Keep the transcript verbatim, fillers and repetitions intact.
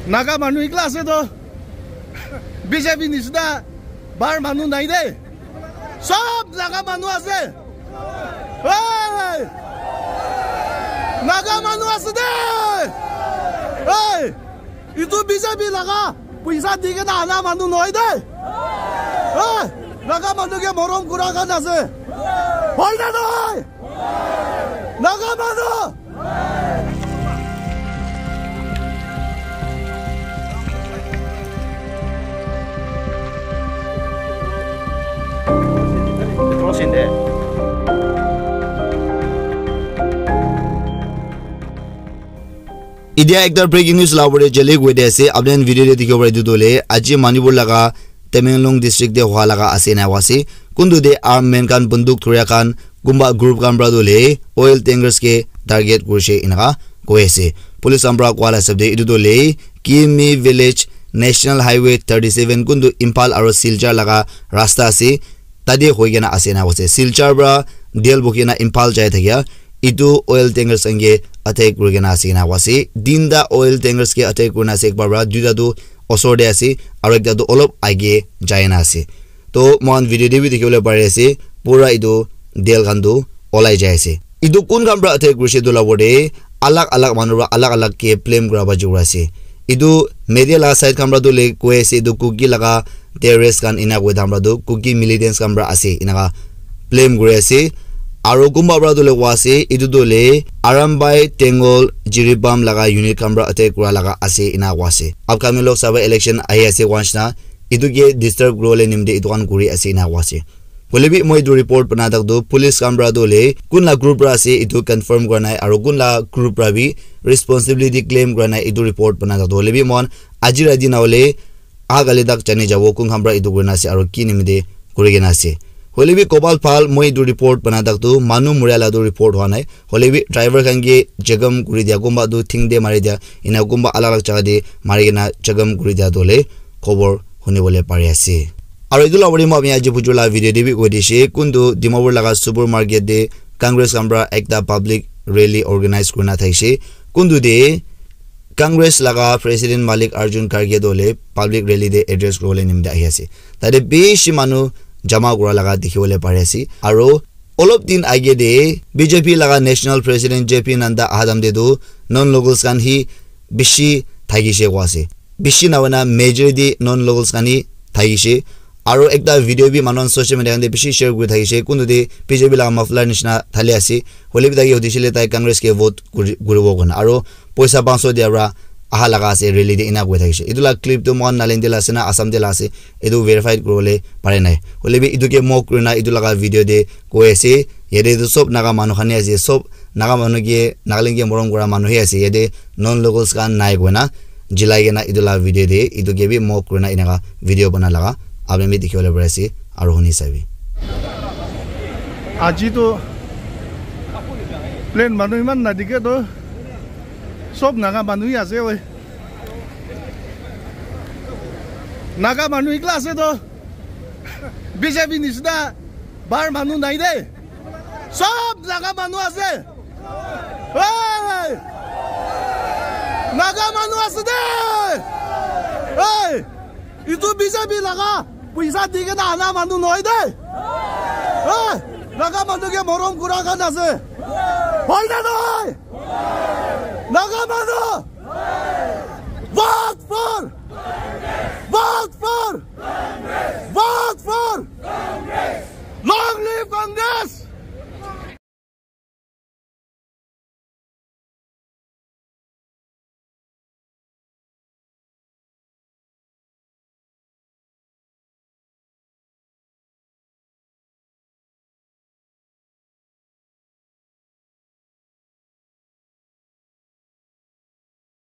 Naga manu ekla ase to. B J P nisina bahar manu nai de. Sob Naga manu ase. Hey! Naga manu ase de. Hey! Itu B J P laga puisa di kena ana manu nohoi de. Hey! Naga manu ke morom kura khan ase. Hoi na nohoi? Naga manu! Etia ekta breaking news la pore jale koi de ase. Apni khan video de dikhibo pare etu tu hoile aji Manipur laga Tamenglong district de hua laga ase ena koi ase. Kuntu de armed men khan bunduk thuria khan kunba group khan para tu hoile oil tankers ke target kurishe enaka koi ase. Police khan para koa la hisab de etu tu hoile Kimi village National Highway thirty seven kuntu Imphal aro Silchar laga rasta ase. Tate hoi kena ase ena koi ase. Silchar para Delhi bukhi kena Imphal jai thakia etu oil tankers khan ke attack kuri kena ase ena koi ase. Tinta oil tankers ke attack kurina ase, ekbar para duita tu osor te ase aro ekta tu olop age jai na ase. To moikhan video te bi dikhi bole pari ase pura etu tel khan tu olai jai ase. Etu kun khan para attack kurishe etu la opor te alag alag manu para alag alag ke blame kura ba jai ase. Etu media la side khan para tu hoile koi ase etu Kuki laga terrorist khan ena koi thaka para tu Kuki militants khan para ase enaka blame kuri ase. Aro kunba para tu hoile koi ase etu tu hoile Arambai, Tengol, Jiribam laga unit khan para attack kura laga ase ena koi ase. Upcoming Lok Sabha election ahi ase koi nishina etu ke disturb kuri bole nimite etu khan kuri ase ena koi ase. Hoile bi moi etu report bana thak tu police khan para tu hoile kun la group para ase etu confirm kura nai aro kun la group para bi responsibility claim kura nai etu report bana thak tu hoile bi moikhan aji rati na hoile aha kali tak jani jabo kun khan para etu kurina ase aro ki nimite kuri kena ase. Hoile bi kopal bhal moi etu report bana thak tu manu muria la tu report hua nai. Hoile bi driver khan ke jagam kuri dia, kunba tu thing te mari dia, ena kunba alag alag jaga te mari kena jagam kuri dia tu hoile khobor huni bole pari ase. Aro etu la opor te moi apni aji bujur la video te bi koi dishe, kuntu Dimapur laga supermarket te Congress khan para ekta public rally organize kurina thakishe, kuntu te Congress laga President Malik Arjun Kharge tu hoile public rally te address kuri bole nimite ahi ase. Tate bishi manu jama kura laga dikhi bole pari ase. Aro olop din age te B J P laga National President J P Nadda aha time te tu non locals khan hi bishi thakishe koi ase. Bishi na hoina majority non locals khan hi thakishe. Aro ekta video bi manu khan social media khan te bishi share kuri thakishe. Kuntu te B J P laga muffler nishina thali ase. Hoile bi tai ke hudishe le tai Congress ke vote kuri, kuribo koina. Aro poisa panch so dia para aha laga ase rally te ena koi thakishe. Etu la clip tu moikhan Nagaland te la ase na Assam te la ase, etu verified kuri bole pare nai. Hoile bi etu ke mock kurina etu laga video te koi ase, yate tu sob Naga manu khan he ase, sob Naga manu ke Nagaland ke morom kura manu he ase, yate non locals khan nai koina jilai kena etu la video te etu ke bi mock kurina enaka video bana laga apni bi dikhi bole pare ase aro huni sabi. Aji tu plain manu iman na dikhe to. Sob Naga manu hi ase oi. Naga manu ekla ase to. B J P nisina bahar manu nai de. Sob Naga manu ase. Hey! Naga manu ase de. Hey! Itu B J P laga puisa di kena ana manu nohoi de. Hey! Naga manu ke morom kura khan ase. Hoi na nohoi? Naga manu!